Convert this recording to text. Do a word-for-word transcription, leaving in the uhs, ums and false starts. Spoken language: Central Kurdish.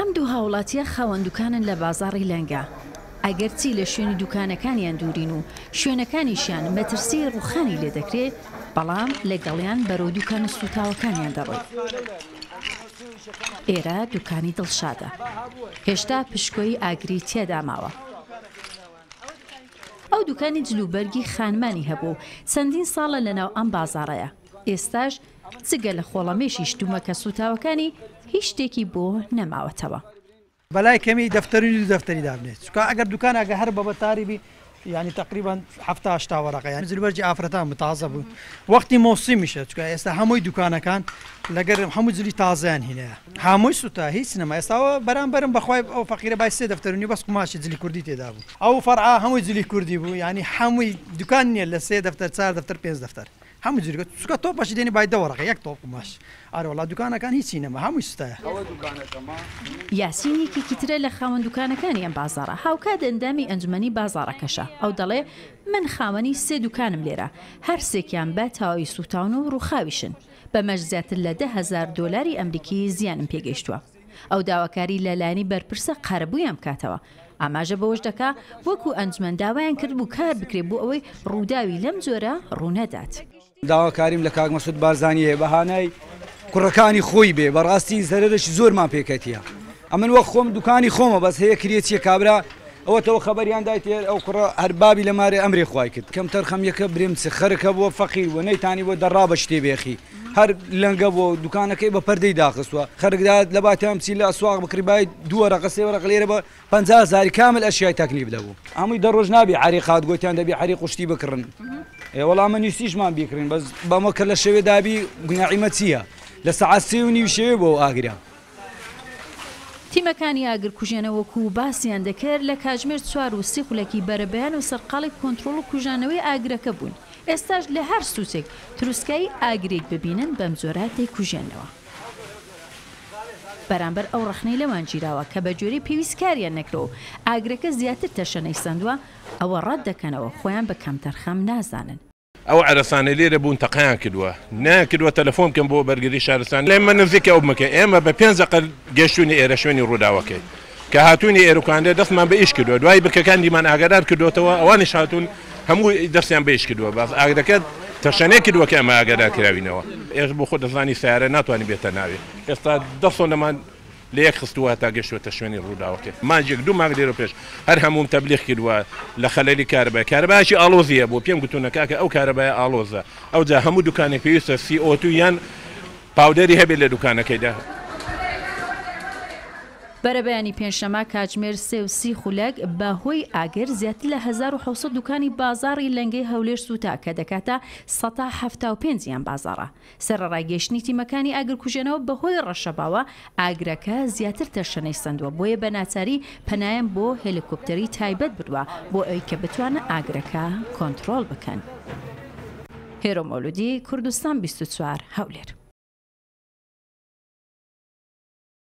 ئەم دوو هاوڵاتیە خاوەن دوکانن لە بازاڕی لەنگە، ئەگەرچی لە شوێنی دوکانەکانیان دوورین و شوێنەکانیشیان مەترسی ڕووخانی لێ دەکرێ، بەڵام لەگەڵیان بەرەو دوکانە سووتاوەکانیان دەڕۆین. ئێرە دوکانی دڵشادە، هێشتا پشکۆی ئاگری تێدا ماوە. ئەو دوکانی جلوبەرگی خانمانی هەبوو و چەندین ساڵە لەناو ئەم بازاڕەیە. ئێستاش جگە لە خۆڵەمێشی شتومەکە سووتاوەکانی هیچ شتێکی بۆ نەماوەتەوە. بەلای کەمی دەفتەری دوو دەفتەری دابنێت، چونکە ئەگەر دوکان ئەگە هەر بە بەتاری بی یعنی تقریبا حەفتا هەشتا وەرەقە، یعنی جلوبەرگی ئافرەتان تازە بوو، وەختی مۆسیمیشە، چونکە ئێستا هەمووی دوکانەکان لەگەر هەموو جلی تازەیان هینەیە، هەمووی سووتا هیچ نەما. ئێستاوە بەرامبەرم بەخوای ئەو فەقیرە بای سێ دەفتەر و نیو بەس قوماشی جلی کوردی تێدا بوو، ئەو فەرعا هەمووی جلی کوردی بوو، یعنی هەمووی دوکان نییە لە سێ دەفتەر چوار دەفتەر پێنج دەفتەر، هەموو جلی چونکە تۆپەشی دێنی بای دە وەرەقە یەک تۆپ قوماش. ئارە وەڵا دوکانەکان هیچی نەما، هەمووی سوتایە. یاسین یەکێکی ترە لە خاوەن دوکانەکانی ئەم بازاڕە، هاوکات ئەندامی ئەنجومەنی بازاڕەکەشە. ئەو دەڵێ من خاوەنی سێ دوکانم لێرە، هەر سێکیان بە تەواوی سووتاون و ڕووخاویشن، بەمەش زیاتر لە دە هەزار دۆلاری ئەمریکی زیانم پێگەیشتووە. ئەو داواکاری لە لایەنی بەرپرسە قەرەبوویان بکاتەوە. ئاماژە بەوەش دەکا وەکو ئەنجومەن داوایان کرد بوو کار بکرێ بۆ ئەوەی ڕووداوی لەم جۆرە ڕوونەدات. داواکاریم لە کاک مەسعود بارزانی هەیە بەهانای کوڕەکانی خۆی بێ، بەڕاستی زەرەرێکی زۆرمان پێکەتیە. ئەمن وەک خۆم دوکانی خۆمە، بەس هەیە کرێچیە کابرا ئەوەتەوە خەبەریان دایتێ ئەو کوڕە هەر بابی لە مارێ ئەمرێ خوای کرد. کەم تەرخەم یەکە برێم چ خەرکە بووە فەقیر بووە نەیتانی بۆ دەڕا بە شتێ بێخی، هەر لەنگە بووە دوکانەکەی بە پەردەی داخستووە. خەرکدا لە باتیان بچی لە ئەسواق بکڕی بای دوو وەرەقە سێ وەرەقە لێرە بە پەنجا هەزاری کامل ئەشیای تەکلیف دەبوو. هەمووی دە ڕۆژ نابی عەریقات گوتیان دەبی عەریق و شتی بکڕن. ئێ وەڵا من نووسیشمان بیکڕین، بەس بەمە کە لە شەوێ دابی گوناعیمە چییە؟ لە سەعات سێ و نیو شەوێ بۆ ئاگرە. تیمەکانی ئاگرکوژێنە وەکو باسیان دەکرد لە کاتژمێر چوار و سی خولەکی بەرەبەیان و سەرقاڵی کۆنترۆڵ و کوژانەوەی ئاگرەکە بوون. ئێستاش لە هەر سوچێک تروسکایی ئاگرێک ببینن بەم جۆرە دەیکوژێنەوە. بەرامبەر ئەو ڕەخنەی لەوان گیراوە کە بە جۆرەی پێویست کاریان نەکرەوە و ئاگرەکە زیاتر تەشەنەی سەندووە، ئەوە ڕەت دەکەنەوە خۆیان بە کەمتەرخەم نازانن. ئەو عەرەسانە لێرە بوون تەقیان کردووە، نایان کردووە تەلەفۆن بکەن بۆ بەرگری شارستان. لێمە نزیکە ئەو بمەکە، ئێمە بە پێنج دەقە گەشتوینە ئێرە شوێنی ڕووداوەکەی کە هاتوونی ئێرەکاندە دەستمان بە ئیش کردووە، دوای بکەکان دیمان ئاگادار کردوێتەوە، ئەوانیش هاتوون هەموو دەستیان بە ئیش کردووە، باز ئاگرەکە تەشەنەی کردووە کە ئەمە ئاگادار کراوینەوە. ئێش بۆ خۆ دەزانی سیارە ناتوانانی بێتە ناوێ، ئێستا دە سۆنەمان لە یەک خستووە تا گەشتوەتە شوێنی ڕووداوەکەی. مانجێک دوو مانگ لێرە پێش هەر هەمووم تەبلیغ کردووە لە خەلەلی کارەبای، کارەبایەکی ئاڵۆزیە بۆ پێم گوتوونە کاکە ئەو کارەبایە ئاڵۆزە، ئەوجا هەموو دوکانێک پێویستە سی ئۆ دوو یان پاودەری هەبێت لە دوکانەکەیدا. بەرەبەیانی پێنجشەممە کاتژمێر سێ و سی خولەک بە هۆی ئاگر زیاتر لە هەزار و حەوت سەد دوکانی بازاڕی لەنگەی هەولێر سووتا کە دەکاتە سەتا حەفتا و پێنجیان بازاڕە. سەرەڕای گەیشتنی تیمەکانی ئاگرکوژێنەوە بەهۆی ڕەشەباوە ئاگرەکە زیاتر تەشەنەی سەندووە، بۆیە بە ناچاری پەنایان بۆ هێلیکۆپتەری تایبەت بردووە بۆ ئەوی کە بتوانن ئاگرەکە کۆنترۆڵ بکەن. هێرۆ مەولودی، کوردستان بیست و چوار، هەولێر.